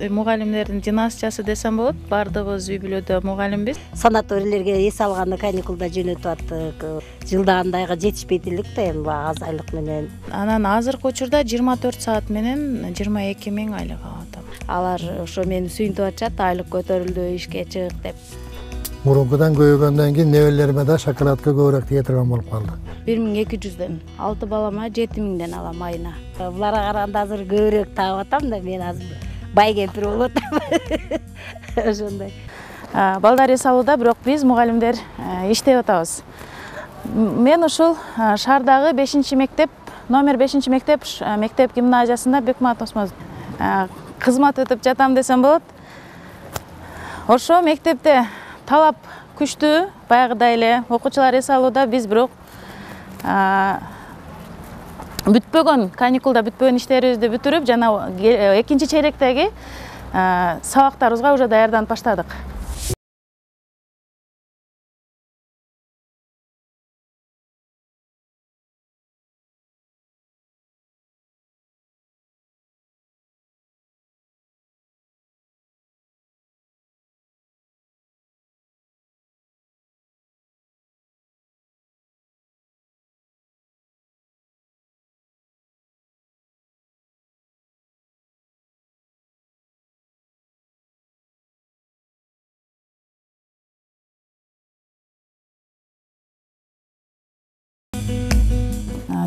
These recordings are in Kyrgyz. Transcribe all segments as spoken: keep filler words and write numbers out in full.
мугалимдердин династиясы десем болот. Баардыгыбыз үй бүлөдө мугалимбиз. Санаторийлерге эс алганы каникулда жөнөтүп аттык. Жылда андайга жетишпейт элек да эми аз айлык менен. Анан азыркы учурда жыйырма төрт саат менен жыйырма эки миң айлык алып атам. Алар ошо мени сүйүнтүп атышат, айлык көтөрүлдү, ишке чык деп. Мурункудан көбөйгөндөн кийин небелериме да шоколадка көбүрөөк тие турган болуп калды. бир миң эки жүздөн, алты балама жети миңден алам айына. Буларга караганда азыр көбүрөөк таап атам да, мен азыр бай кемпир болуп атам. Ошондой. Балдар эс алууда, бирок биз мугалимдер иштеп атабыз. Мен ушул шаардагы бешинчи мектеп, номер бешинчи мектеп, мектеп гимназиясында Бекмамат Осмонов кызмат өтүп жатам десем болот. Ошо мектепте талап күчтүү, баягыдай эле окуучулар эс алууда, биз бирок бүтпөгөн, каникулда бүтпөгөн иштерибизди бүтүрүп, жана экинчи чейректеги сабактарыбызга уже даярданып баштадык.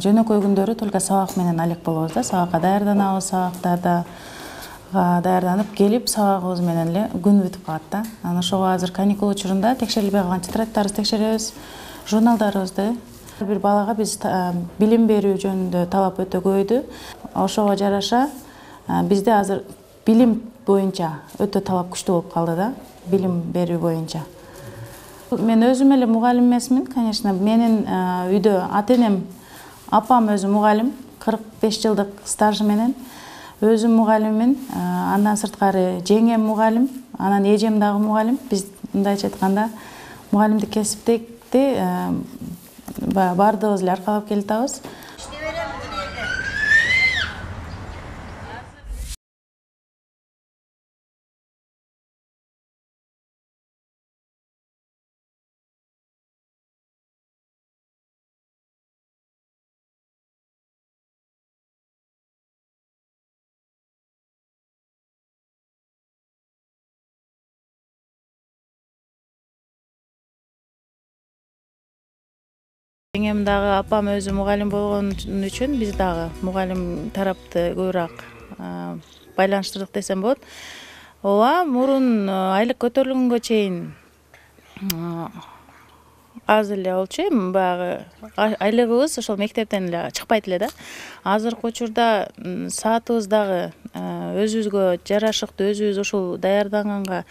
Жөнөкөй күндөрү только сабак менен алек болобуз да, сабакка даярданабыз, сабактарда даярданып келип, сабагыбыз менен эле күн бүтүп калат да. Анан ошого азыр каникул учурунда текшерилбей калган тетрадьтарыбызды текшеребиз, журналдарыбызды. Бир балага биз билим берүү жөнүндө талап өтө көбөйдү. Ошого жараша бизде азыр билим боюнча өтө талап күчтүү болуп калды да, билим берүү боюнча. Мен өзүм эле мугалим эмесмин, конечно. Менин үйдө ата-энем, апам өзү мугалим, кырк беш жылдык стажы менен. Өзүм мугалиммин, андан сырткары жеңем мугалим, анан эжем дагы мугалим. Биз мындайча айтканда мугалимдик кесипти баардыгыбыз эле аркалап келатабыз. Жеңем дагы, апам өзү мугалим болгон үчүн биз дагы мугалим тарапты көбүрөөк байланыштырдык десем болот. Ооба, мурун айлык көтөрүлгөнгө чейин аз эле болчу, эми баягы айлыгыбыз ошол мектептен эле чыкпайт эле да. Азыркы учурда саатыбыз дагы өзүбүзгө жарашыктуу, өзүбүз ушул даярданганга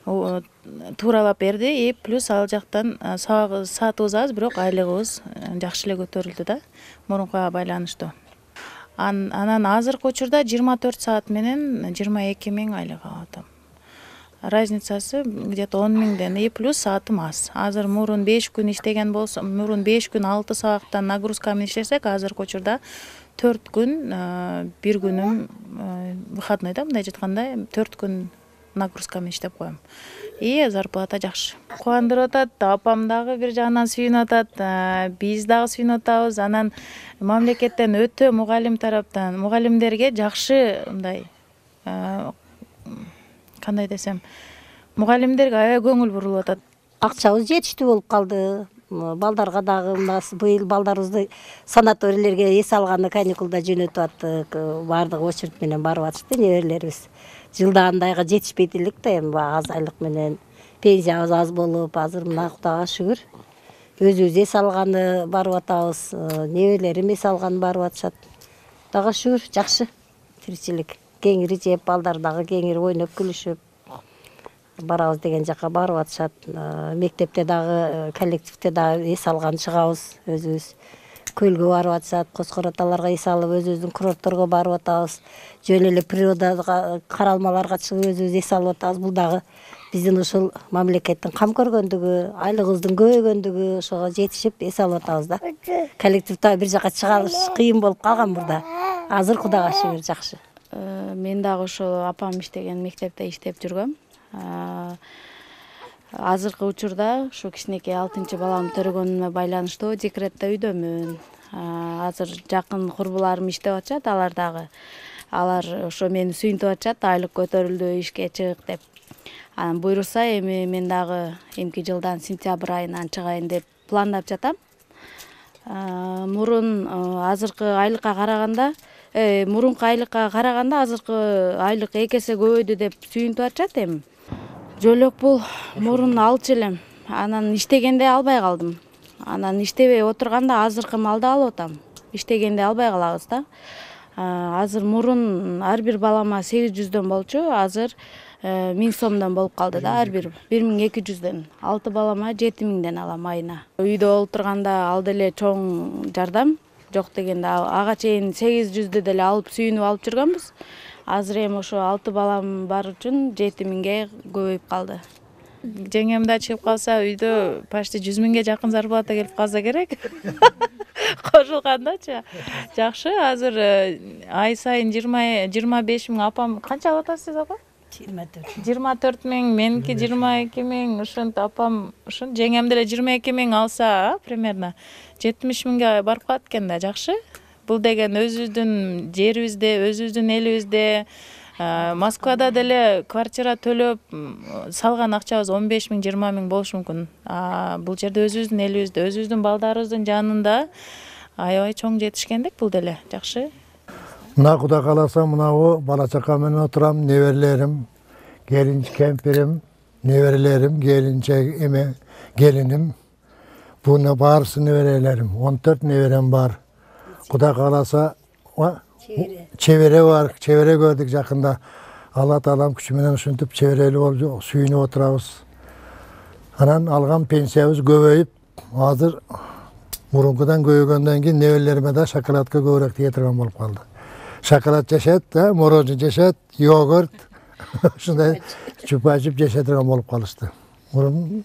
тууралап берди. И плюс ал жактан саатыбыз аз, бирок айлыгыбыз жакшы эле көтөрүлдү да, мурункуга байланыштуу. Анан азыркы учурда жыйырма төрт саат менен жыйырма эки миң айлык алып атам. Разницасы где-то он миңден, и плюс саатым аз. Азыр мурун беш күн иштеген болсо, мурун беш күн алты сабактан нагрузка менен иштесек, азыркы учурда төрт күн, бир күнүм выходной да, мындайча айтканда төрт күн нагрузка менен иштеп коем. И зарплата жакшы. Кубандырып атат, апам дагы бир жагынан сүйүнүп атат, биз дагы сүйүнүп атабыз. Анан мамлекеттен өтө мугалим тараптан мугалимдерге жакшы мындай кандай десем, мугалимдерге аябай көңүл бурулуп атат. Акчабыз жетиштүү болуп калды. Балдарга дагы быйыл балдарыбызды санаторийлерге эс алганы каникулда жөнөтүп аттык. Баардыгы очередь менен барып атышты неберелерибиз. Жылда андайга жетишпейт элек да, эми аз айлык менен пенсиябыз аз болуп, азыр мына Кудайга шүгүр. Өзүбүз эс алганы барып атабыз, неберелерим эс алганы барып атышат. Кудайга шүгүр, жакшы тиричилик. Кеңири жеп, балдар дагы кеңири ойноп күлүшүп барабыз деген жака барып атышат. Мектепте дагы, коллективде дагы эс алган чыгабыз өзүбүз. Көлгө барып атышат, Коскор аталарга эс алып, өзүбүздүн курортторго барып атабыз. Жөн эле природага каралмаларга чыгып өзүбүз эс алып атабыз. Бул дагы биздин ушул мамлекеттин кам көргөндүгү, айлыгыбыздын көбөйгөндүгү, ошого жетишип эс алып атабыз да. Коллективде бир жака чыгабыз кыйын болуп калган мурда. Азыр Кудайга шүгүр жакшы. Мен дагы ошол апам иштеген мектепте иштеп жүргөм. Азыркы учурда ушу кичинекей алтынчы баламды төрөгөнүмө байланыштуу декретте үйдөмүн. Азыр жакын курбуларым иштеп атышат, алар дагы алар ошо мени сүйүнтүп атышат, айлык көтөрүлдү, ишке чык деп. Анан буйруса эми мен дагы эмки жылдан сентябрь айынан чыгайын деп пландап жатам. Мурун азыркы айлыкка караганда, мурунку айлыкка караганда азыркы айлык эки эсе көбөйдү деп сүйүнтүп атышат эми. Жөлөк бул мурун алчу элем. Анан иштегенде албай калдым. Анан иштебей отурганда азыркы малды алып атам. Иштегенде албай калабыз да. Азыр мурун ар бир балама сегиз жүздөн болчу, азыр миң сомдон болуп калды да, ар бир бир миң эки жүздөн. алты балама жети миңден алам айына. Үйдө олтурганда ал деле чоң жардам. Жок дегенде ага чейин сегиз жүздү деле алып сүйүнүп алып жүргөнбүз. Азыр эми ошо алты балам бар үчүн жети миңге көбөйүп калды. Жеңем да чыгып калса үйдө почти жүз миңге жакын зарплата келип калса керек. Кошулгандачы. Жакшы, азыр ай сайын жыйырма беш миң, апам канча алып атасыз сиз апа? жыйырма төрт. жыйырма төрт миң, меники жыйырма эки миң, ушинтип апам, ушун жеңем деле жыйырма эки миң алса, примерно жетимиш миңге барып калат экен да, жакшы. Бул деген өзүбүздүн жерибизде, өзүбүздүн элибизде, Москвада деле квартира төлөп салган акчабыз он беш миң, жыйырма миң болушу мүмкүн. Бул жерде өзүбүздүн элибизде, өзүбүздүн балдарыбыздын жанында аябай чоң жетишкендик бул деле, жакшы. Мына Кудай кааласа мынабу бала чака менен отурам, неберелерим, келин кемпирим, неберелерим, келинчек эме, келиним. Буна баарысы неберелерим, он төрт неберем бар. Кудай кааласа чебере бар, чебере көрдүк жакында. Алла таалам күчү менен ушинтип чеберелүү болуп сүйүнүп отурабыз. Анан алган пенсиябыз көбөйүп, азыр мурункудан көбөйгөндөн кийин неберелериме да шоколадка көбүрөөк тие турган болуп калды. Шоколад жешет, мороженое жешет, йогурт, ушундай чупа-чуп жеше турган болуп калышты. Мурун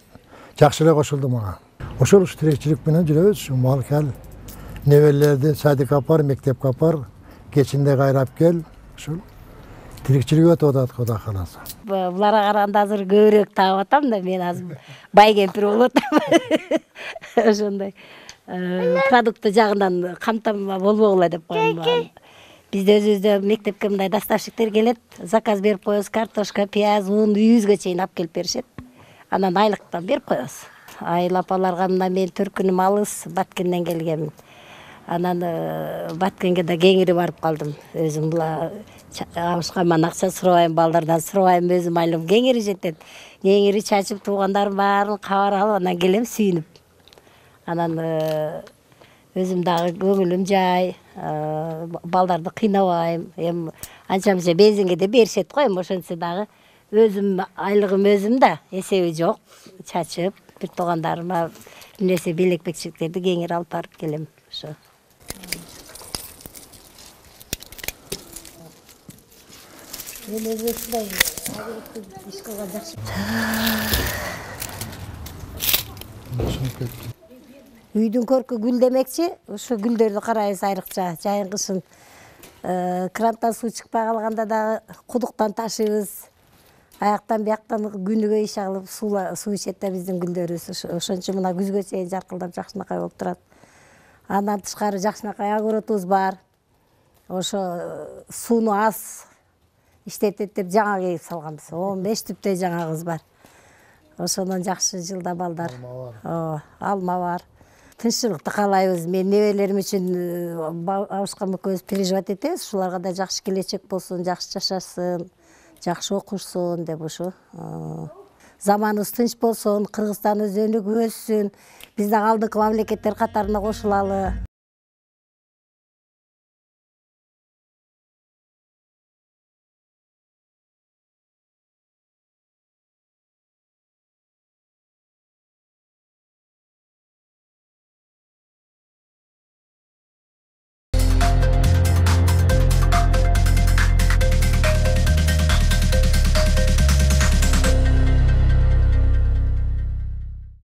жакшы эле кошулду мага. Ошол ушу тиричилик менен жүрөбүз, ушу мал кел. Неберелерди садикке апар, мектепке апар, кечинде кайрап кел. Ушул тиричилик өтүп атат Кудай кааласа. Буларга караганда азыр көбүрөөк таап атам да, мен азыр бай кемпир болуп атам. Ошондой продукты жагынан камтама болбогула деп коем. Бизде өзүбүздө мектепке мындай доставщиктер келет, заказ берип коебуз, картошка, пияз, ун үйүбүзгө чейин алып келип беришет. Анан айлыктан берип коебуз. Айыл апаларга мына мен төркүнүм алыс, Баткенден келгенмин. Анан Баткенге да кеңири барып калдым. Өзүм була абышкаман акча сурабайм, балдардан сурабайм, өзүм айлым кеңири жетет. Кеңири чачып туугандарым баарын кабар алып, анан келем сүйүнүп. Анан өзүм дагы көңүлүм жай, балдарды кыйнабайм. Эми анча мынча бензинге да беришет го, эми ошентсе дагы өзүм айлыгым өзүм да, эсеби жок. Чачып, бир туугандарыма бир нерсе белек-бекчектерди кеңири алып барып келем. Ошо. Мен өзүмдай иш кылган жакшы. Үйдүн көркү гүл демекчи, ошо гүлдөрдү карайбыз айрыкча. Жайын кышын кранттан суу чыкпай калганда дагы кудуктан ташыйбыз. Аяктан бияктан күнүгө иш алып суу ичет да биздин гүлдөрүбүз. Ошон үчүн мына күзгө чейин жаркылдап жакшынакай болуп турат. Андан тышкары жакшынакай огородубуз бар. Ошо сууну аз иштетет деп жаңа кээп салганбыз. он беш түптөй жаңагыбыз бар. Ошондон жакшы жылда балдар. Ооба, алма бар. Тынччылыкты каалайбыз. Мен неберелерим үчүн абышкам экөөбүз переживать этебиз. Ушуларга да жакшы келечек болсун, жакшы жашашсын, жакшы окушсун деп ушу. Заманыбыз тынч болсун, Кыргызстан өзөнү өссүн. Биз дагы алдыңкы мамлекеттер катарына кошулалы.